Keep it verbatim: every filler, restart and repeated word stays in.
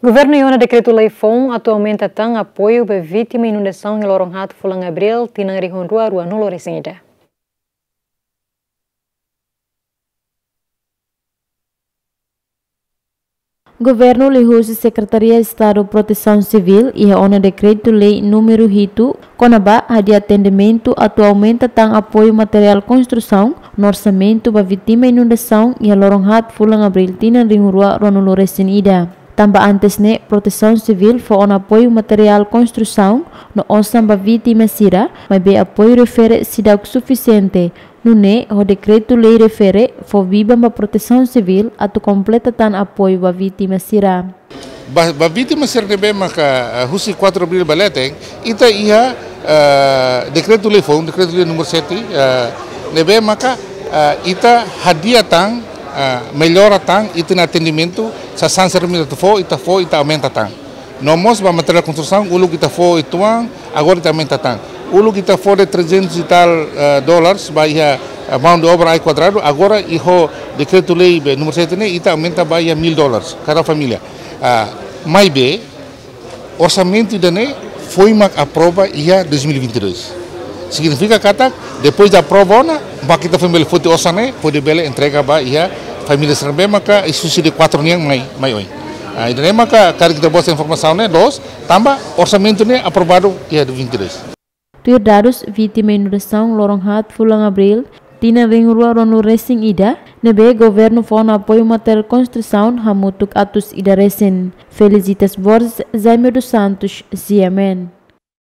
Governu iha ona dekretu-lei foun atu aumenta tan apoiu ba vítima inundasaun iha loron haat fulan Abríl tinan rihun rua rua-nulu resin ida. Governu liuhusi Sekretaria Estadu Protesaun Sivíl iha ona dekretu-lei númeru hitu kona-ba hadi'a atendimentu atu aumenta tan apoiu materiál konstrusaun no orsamentu ba vítima inundasaun iha loron haat fulan Abríl tinan rihun rua rua-nulu resin ida. Tanba antes ne'e, Protesaun Sivíl fó ona apoiu materiál konstrusaun no osan ba vítima sira, maibé apoiu refere seidauk sufisiente. Nune'e, ho dekretu-lei refere fó biban ba Protesaun Sivíl atu kompleta tan apoiu ba vítima sira. Ba, ba vítima sira ne'ebé maka, ah, husi quatro Abríl ba leten, ita iha, ah, dekretu-lei foun, dekretu-lei númeru sete, ah, ne'ebé maka, ah, ita hadi'a tan, ah, mellora tan ita-nia atendimentu, sasán sira ne'ebé ita fó, ita fó, ita aumenta tan. No mós ba materiál konstrusaun, uluk ita fó uitoan, agora ita aumenta tan. Uluk ita fó de trezentos e tal, eh, dólares ba iha, eh, mão de obra ai kuadradu, agora iha dekretu-lei be númeru sete ne'e, ita aumenta ba iha mil dólares kada família. Ah, maibé, orsamentu ida-ne'e foin mak aprova iha dois mil e vinte e dois. Signifika katak, depois de aprova ona, mak ita foin bele foti osan ne'e, hodi bele entrega ba iha família sira ne'ebé maka iha husi de quatro nian mai, mai oin. Ah, ida-ne'e maka karik ita-boot informasaun ne'e loos, tanba orsamentu ne'e aprovadu iha vinte e dois. Tuir dadus, vítima inundasaun loron haat fulan Abríl tinan rihun rua rua-nulu resin ida, ne'ebé governu fó ona apoiu materiál konstrusaun hamutuk atus ida resin. Felicitas Borges, Jaime dos Santos, G M N.